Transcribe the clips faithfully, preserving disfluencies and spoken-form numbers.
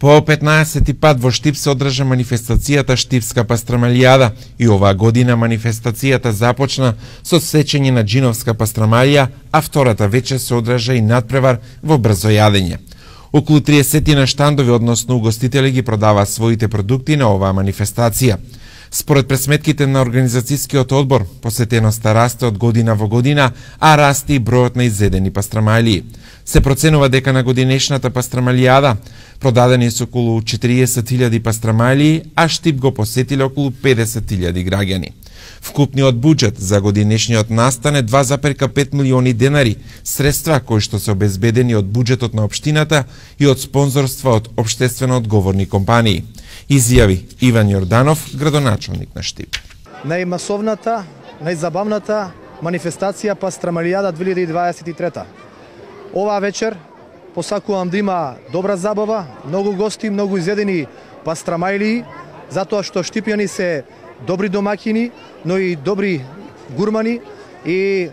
По петнаесети пат во Штип се одржа манифестацијата Штипска пастрамалијада и оваа година манифестацијата започна со сечење на џиновска пастрамалија, а втората вечер се одржа и надпревар во брзо јадење. Околу триесет на штандови, односно угостители, ги продаваа своите продукти на оваа манифестација. Според пресметките на организацијскиот одбор, посетеноста расте од година во година, а расте и бројот на изедени пастрамалии. Се проценува дека на годинешната пастрамалијада продадени се околу четириесет илјади пастрамалии, а Штип го посетиле околу педесет илјади граѓани. Вкупниот буџет за годинешниот настан е два запирка пет милиони денари, средства кои што се обезбедени од буџетот на општината и од спонзорства од општествено одговорни компании. Изјави Иван Јорданов, градоначалник на Штип. Најмасовната, најзабавната манифестација Пастрамалијада две илјади дваесет и трета. Оваа вечер посакувам да има добра забава, многу гости, многу изедени пастрамалии, затоа што штипјани се добри домакини, но и добри гурмани, и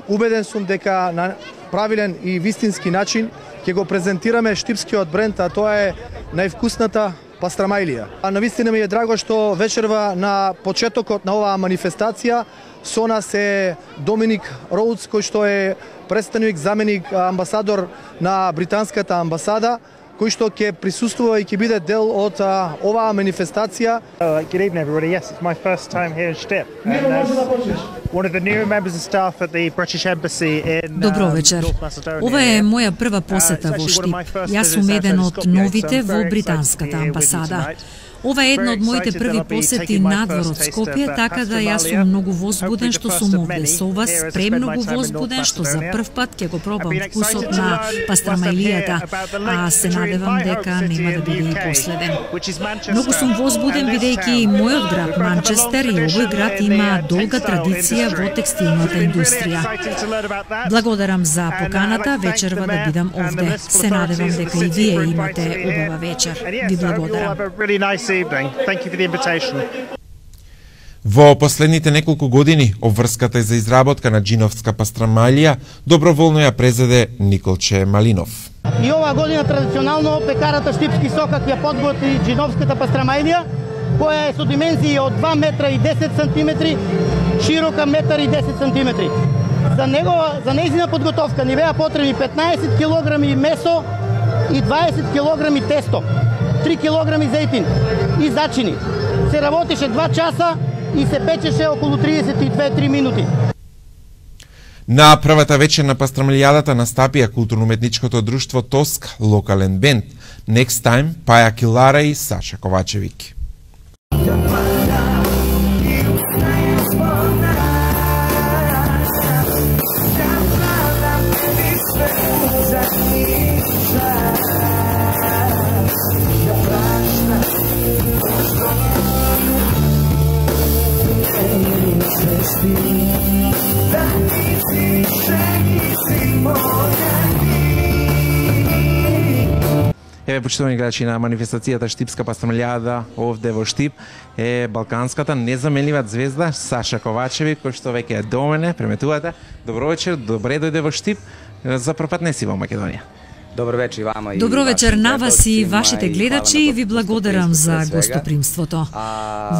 убеден сум дека на правилен и вистински начин ќе го презентираме штипскиот бренд, а тоа е највкусната пастрамалија. А навистина ми е драго што вечерва на почетокот на оваа манифестација со нас е Доминик Роудс, кој што е представник, заменик амбасадор на британската амбасада, кој што ќе присуствува и ќе биде дел од а, оваа манифестација. Uh, good evening, everybody. Yes, it's my first time here in Штип. And as one of the new members of staff at the British Embassy in Добро вечер. Ова е моја прва посета во Штип. Јас сум еден од новите во британската амбасада. Ова е една од моите први посети надвор од Скопје, така да јас сум многу возбуден што сум овде со вас, премногу возбуден што за прв пат ќе го пробам вкусот на пастрамалијата, а се надевам дека нема да биде и последен. Многу сум возбуден бидејќи мојот град Манчестер и овој град има долга традиција во текстилната индустрија. Благодарам за поканата вечерва да бидам овде. Се надевам дека и вие имате убава вечер. Ви благодарам. Thank you for the invitation. Во последните неколку години обврската за изработка на џиновска пастрамалија доброволно ја презеде Николче Малинов. И оваа година традиционално пекарата Штипски сокак ја подготви џиновската пастрамалија, која е со димензии од два метра и десет сантиметри, широка метар и десет сантиметри. За него, за нејзина подготовка ни беа потребни петнаесет килограми месо и дваесет килограми тесто, три килограми зејтин и зачини. Се работеше два часа и се печеше околу триесет и две до три минути. На првата вечер на пастрамалијадата настапија културно-уметничкото друштво Тоск, локален бенд, Next Time, Паја Килара и Саша Ковачевик. Еве, почитувани гледачи, на манифестацијата Штипска пастрамалијада овде во Штип е балканската незаменлива звезда Саша Ковачевик, кој што веќе е до мене, преметувате. Добро вечер, добре дојде во Штип. За прв пат не си во Македонија. Добро вечер вама и Добро вечер на вас и вашите гледачи и ви благодарам за гостопримството.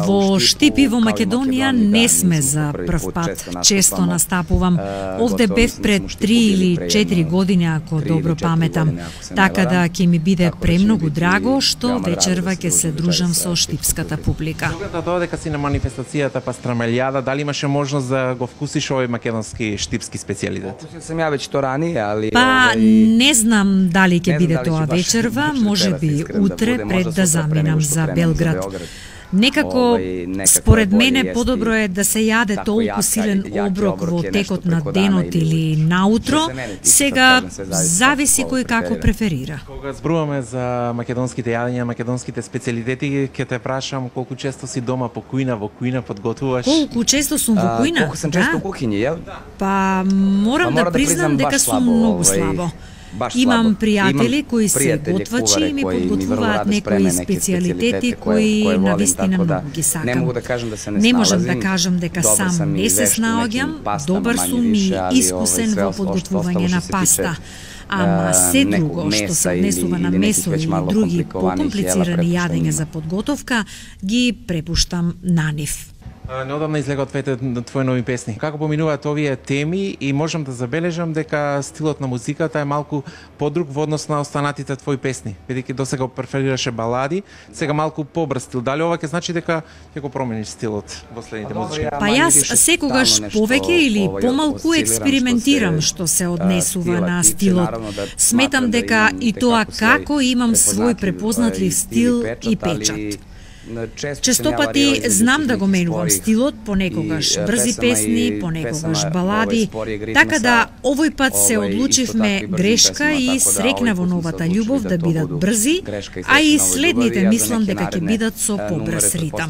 Во Штип и во Македонија не сме за прв пат. Често настапувам. Овде бев пред три или четири години, ако добро паметам. Така да ќе ми биде премногу драго што вечерва ќе се дружам со штипската публика. Тоа дека си на манифестацијата пастрамалијада, дали имаше можност да го вкусиш овој македонски штипски специјалитет? Сам ја веќе тоа рани, али Па не знам дали ќе биде тоа вечерва, може би утре пред да заминам за Белград. Некако, според мене, подобро е да се јаде толку силен оброк во текот на денот или наутро, сега зависи кој како преферира. Кога зборуваме за македонските јадења, македонските специјалитети, ќе те прашам колку често си дома по кујна, во кујна подготвуваш? Колку често сум во кујна? Колку сум често во кухиња, јел? Па морам да признам дека сум многу слабо. Имам пријатели кои се готвачи и ми подготвуваат некои специјалитети кои навистина многу ги сакам. Не могу да кажам да се не Не можам да кажам дека сам не се снаоѓам, добар сум и искусен во подготвување на паста. Ама се друго што се однесува на месо или други покомплицирани јадења за подготовка, ги препуштам на нив. Неодамна излега од твоите твои нови песни. Како поминуваат овие теми и можам да забележам дека стилот на музиката е малку подруг во однос на останатите твои песни. Бидејќи досега преферираше балади, сега малку побрз стил. Дали ова ќе значи дека ќе го промениш стилот во следните музички? Па јас секогаш повеќе или помалку експериментирам што се однесува на стилот. Сметам дека и тоа како имам свој препознатлив стил и печат. Честопати знам да го менувам стилот, понекогаш брзи песни, понекогаш балади, така да овој пат се одлучивме грешка и срекна во новата љубов да бидат брзи, а и следните мислам дека ќе бидат со побрз ритам.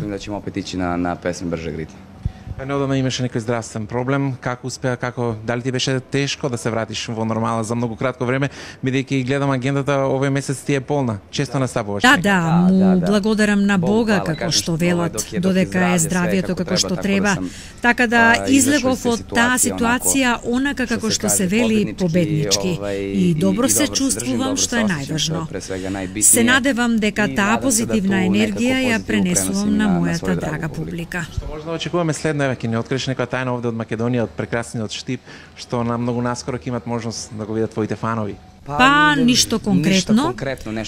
Неодамна имаше некој здравствен проблем, како успеа, како дали ти беше тешко да се вратиш во нормала за многу кратко време, бидејќи гледам агендата овој месец ти е полна. Често настапуваш. Да, да, му благодарам на Бога како што велат, додека е здравието како што треба. Така да излегов од таа ситуација онака како што се вели победнички и добро се чувствувам, што е најважно. Се надевам дека таа позитивна енергија ја пренесувам на мојата драга публика. Што може да очекуваме следно? Ќе не откриеш некоја тајна овде од Македонија, од прекрасниот Штип, што на многу наскоро ќе имат можност да го видат твоите фанови? Па, ништо конкретно,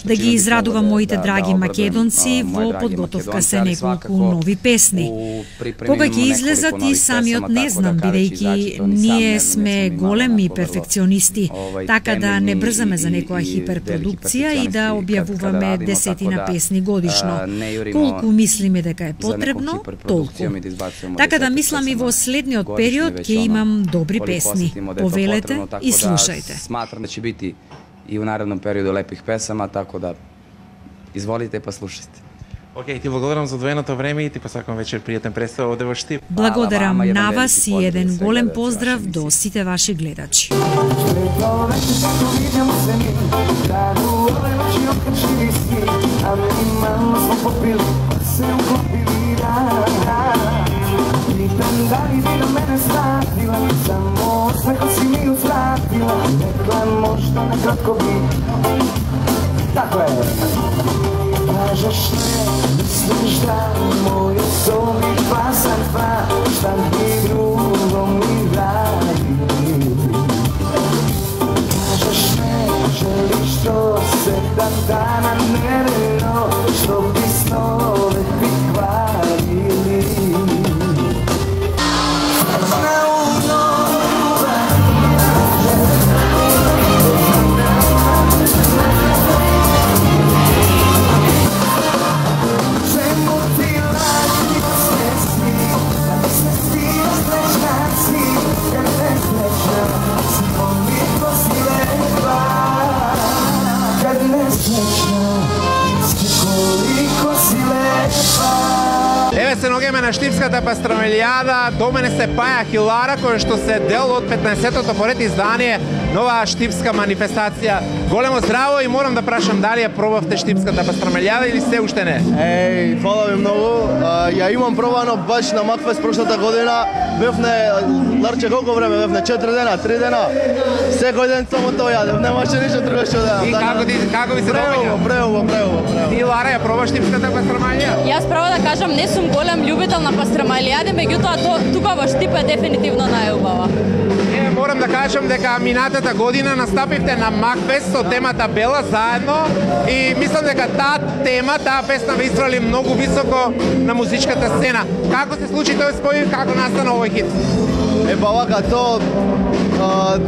да ги израдувам моите драги македонци во подготовка се неколку нови песни. Кога ќе излезат и самиот не знам, бидејќи ние сме големи перфекционисти, така да не брзаме за некоја хиперпродукција и да објавуваме десетина песни годишно. Колку мислиме дека е потребно, толку. Така да мислам и во следниот период ќе имам добри песни. Повелете и слушајте. Сматрам да ќе бити и у наредном периоду лепих песама, така да изволите па слушайте. Океј, ти благодарам за одвоеното време и ти посакувам вечер пријатен представ овде во Штип. Благодарам на вас и еден голем поздрав до сите ваши гледачи. Dali bi do mene statila, samo smehom si mi uzvratila, rekla možda nekratko bi. Tako je. Kažeš ne, misliš da moje sobi pasan pa, šta bi drugo mi radi. Kažeš ne, želiš to se dan dana nereno, što bi snove bi kvarili. Еве се ногеме на Штипската пастрамелијада, до мене се паја Хилара, кој што се дел од петнаесеттото поред издание нова штипска манифестација. Големо здраво и морам да прашам дали ја пробавте Штипската пастрамелијада или се уште не? Еј, фала ви многу. Ја имам пробано баш на Макфест прошлата година. Бевне, Ларче, колку време бевне? четири дена, три дена. Секој ден само тоа јадев, немаше ништо друго што да. И како ти како ви се доаѓа? Преубаво, преубаво, преубаво. Ти Лара ја пробаш Штипската пастрамелија? Јас право да кажам, не сум голем љубител на пастрамелијаде, меѓутоа тука во Штип е дефинитивно најубава. Е, морам да кажам дека минатата година настапивте на Макфест со темата Бела заедно и мислам дека таа тема, таа песна ве извали многу високо на музичката сцена. Како се случи тој спој, како настана овој хит? Е, па вака, то а,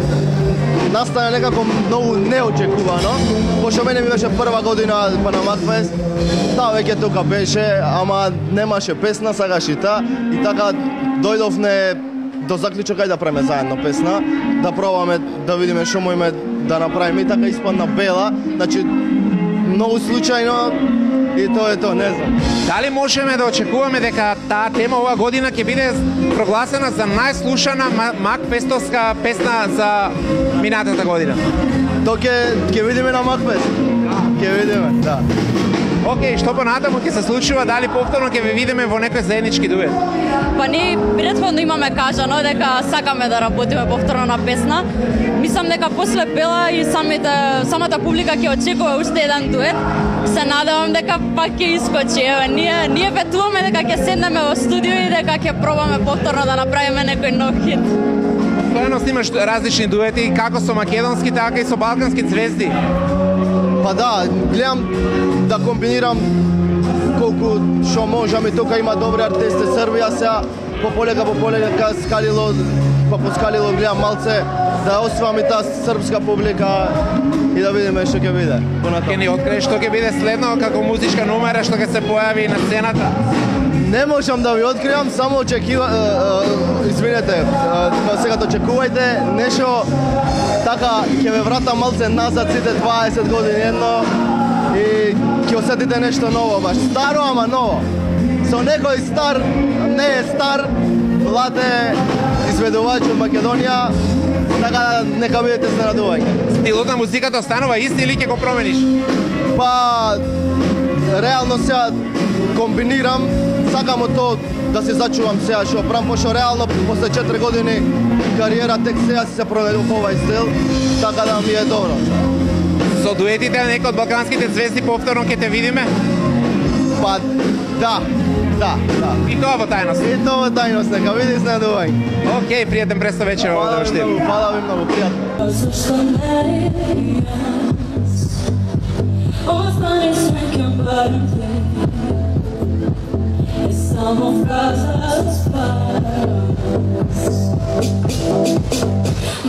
настане некако многу неочекувано, пошто мене ми беше прва година па на Макфест, таа веќе тука беше, ама немаше песна, сакаш и та, и така дојдовме до заклучок ајде да правиме заедно песна, да пробаме да видиме што можеме да направиме, и така испадна Бела, значи многу случајно и тоа е тоа, не знам. Дали можеме да очекуваме дека таа тема оваа година ќе биде прогласена за најслушана Макфестовска песна за минатата година? Тоа ќе ќе видиме на Макфест. Ќе видиме, да. Океј, што понатаму ќе се случува, дали повторно ќе ве видиме во некој заеднички дует? Па ние претходно имаме кажано дека сакаме да работиме повторно на песна. Мислам дека после Бела и самите, самата публика ќе очекува уште еден дует. Се надевам дека пак ќе искочи. Еве, ние ние ветуваме дека ќе седнеме во студио и дека ќе пробаме повторно да направиме некој нов хит. Постојано снимаш различни дуети, како со македонски, така и со балкански звезди. Па да, гледам да комбинирам колку што можам, и тука има добри артисти. Србија сега пополека пополека скалило, па поскалило гледам малце да освам и таа српска публика и да видиме што ќе биде. Ќе ни откриеш што ќе биде следно како музичка номера што ќе се појави на сцената? Не можам да ви откривам, само очекува, извинете, сега очекувајте нешто така ќе ве врата малце назад сите дваесет години едно и ќе осетите нешто ново, баш старо, ама ново. Со некој стар, не е стар, млад е изведувач од Македонија, така нека бидете изненадувања. Стилот на музиката останува ист или ќе го промениш? Па, реално сега комбинирам, сакам од тоа да се зачувам сега што правам, пошто реално после четири години кариера тек сега си се проведува овај стил, така да ми е добро. Со дуетите на некој од балканските звезди повторно ќе те видиме? Па, да, да, да. И тоа во тајност? И тоа во тајност, нека види изненадување. Океј, пријатен престо вечер овде во Штип. Фала ви многу, пријатно. Samo frases paras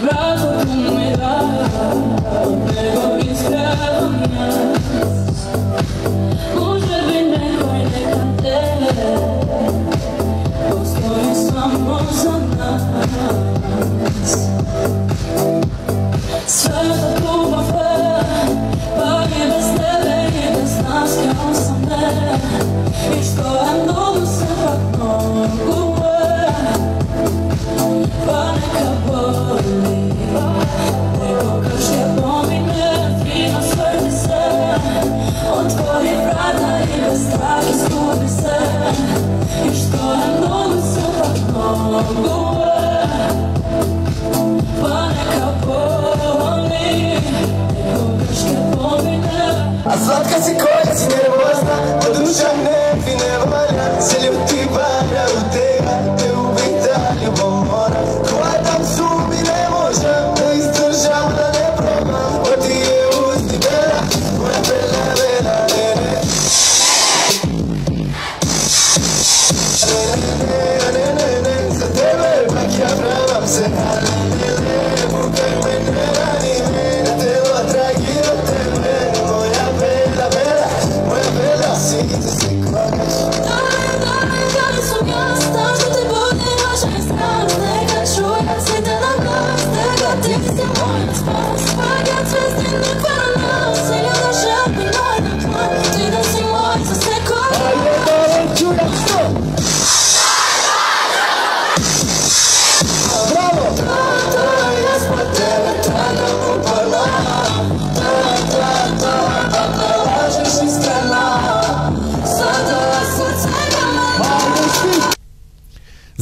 Brazo tu me das Nego iskrenias Može bi nekoj neka te Postoji samo za nas Sve da ljubav je Pa i bez tebe i bez nas kao sam ne I što je mnogo se pak mogu je Pa neka boli Nego kaž je pomine Fino svrti se Otvori vrata i bez strah izgubi se I što je mnogo se pak mogu je Pa neka boli Nego kaž je pomine A slatka si koja si nervozna Ko duša ne ti ne valja Se ljuti valja u teba Te ubita ljubom mora Koja tam zubi ne možem Da izdržam da ne probam Ko ti je usti bela Moja bela, bela, ne, ne Ne, ne, ne, ne Za tebe pak ja pravam se Ne, ne, ne, bukaj me ne rani me Na tela tragi od tebe Moja bela, bela, moja bela Si te se kvagaš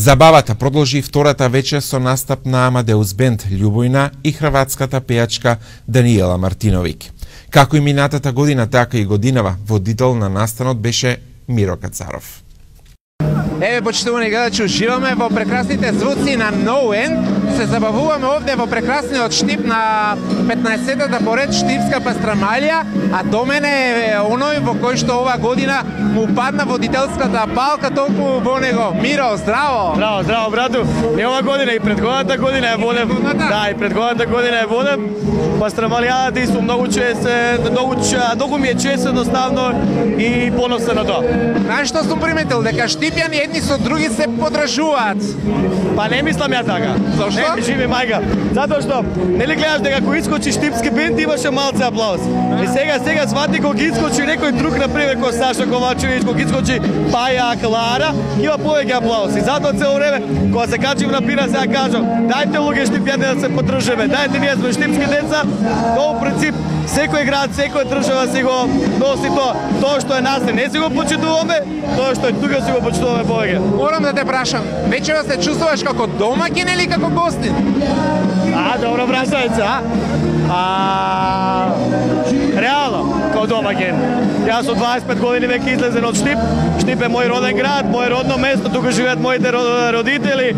Забавата продолжи втората вечер со настап на Амадеус Бенд Љубојна и хрватската пејачка Даниела Мартиновик. Како и минатата година, така и годинава, водител на настанот беше Миро Кацаров. Еве, почитувани гледачи, уживаме во прекрасните звуци на No End Се забавуваме овде во прекрасниот Штип на петнаесеттата поред Штипска пастрамалија, а до мене е оној во кој што ова година му падна водителската палка толку во него. Миро, здраво! Здраво, здраво, брату. Не ова година, и предходната година е водев. Да, и предходната година е водев. Пастрамалијата и сум многу чест, многу, многу ми е чест едноставно и поносен на тоа. Знаеш што сум приметил? Дека штипјани едни со други се подражуваат. Па не мислам ја така. Зошто? Не, живи мајка. Затоа што, нели гледаш дека кој искочи штипски бенд имаше малце аплауз. И сега, сега свати кога искочи некој друг, например, кој Саша Ковачевиќ, кога искочи Паја Клара, има повеќе аплауз. И затоа цело време, кога се качим на пира, сега кажам, дајте луѓе штипјани да се подржиме, дајте ние сме штипски деца, тоа во принцип секој град, секоја држава си го носи тоа. Тоа што е нас не си го почитуваме, тоа што е тука си го почитуваме повеќе. Морам да те прашам, вечера се чувствуваш како домаќин или како гостин? А, добро прашање, а? А, реално, како домаќин. Јас со дваесет и пет години веќе излезен од Штип. Штип е мој роден град, мој родно место, тука живеат моите родители,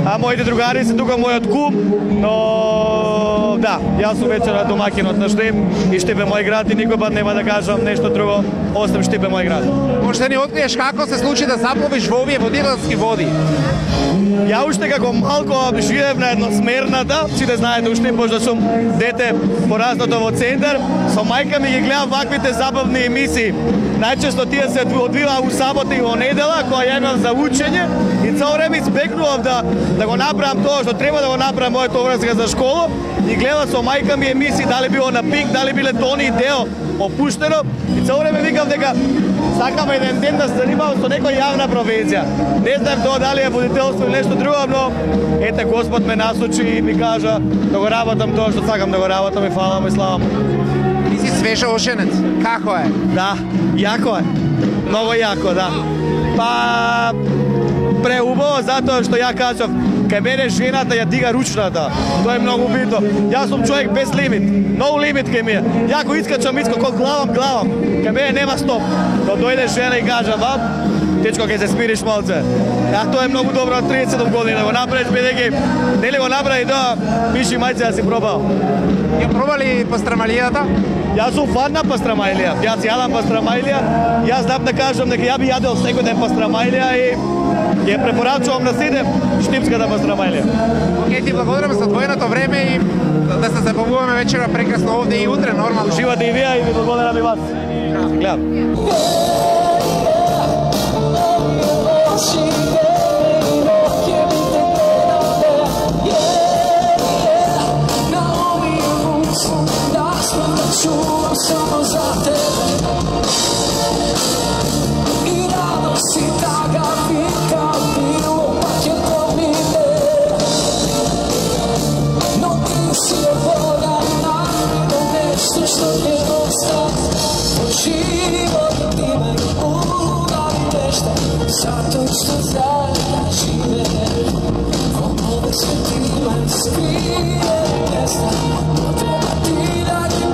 а моите другари се тука мојот кум, но да, јас сум вечера домаќинот на Штип и Штип е мој град и никој пат нема да кажам нешто друго, освен Штип е мој град. Може да ни откриеш како се случи да запловиш во овие водителски води? Ја уште како малко живеев на едносмерната, сите знаете уште пошто сум дете пораснато во центар, со мајка ми ги гледам ваквите забавни емисии. Најчесто тие се одвива у сабота и во недела, кога ја имам за учење и цело време избегнував да да го направам тоа што треба да го направам мојата обврска за школа и гледам со мајка ми емисии, дали било на Пик, дали биле Тони и Део опуштено и цело време викам дека сакам еден ден да се занимавам со некоја јавна професија. Не знам тоа дали е водителство или нешто друго, но ете Господ ме насочи и ми кажа да го работам тоа што сакам да го работам и фала му и слава му. Ти си свежо ошенец. Како е? Да, јако е. Многу јако, да. Па преубаво затоа што ја кажав, кај мене жената ја дига ручната. Тоа е многу битно. Јас сум човек без лимит. No лимит кај мене. Ја ако искачам, искам, кога главам, главам. Кај мене нема стоп. Но дојде жена и кажа, баб, дечко, ќе се смириш малце. А тоа е многу добро од триесет години да го направиш, бидејќи нели го направи тоа, пиши мајце да си пробал. Ја пробали пастрамалијата? Јас сум фан на пастрамалија. Јас јадам пастрамалија. Јас знам да кажам дека ја би јадел секој ден пастрамалија и ја препорачувам на сите штипската пастрамалија. Океј, ти благодарам за твојното време и да се забавуваме вечера прекрасно овде и утре нормално. Живате и вие и ви благодарам и вас. Гледам. Čuvam samo za tebe I rado si taga vika bilo pa će pomine No ti si je voda naravno nešto što je ostati Od život ime udavi nešto Zato što zajedno žive Od ove svetile skrije mjesta No treba ti da ti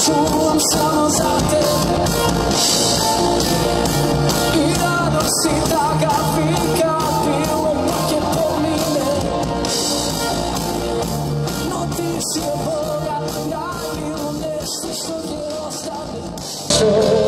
Čuvam samo za tebe I rado si taka vika bilo neke pomine No ti si je Boga, da bilo nešto što je ostane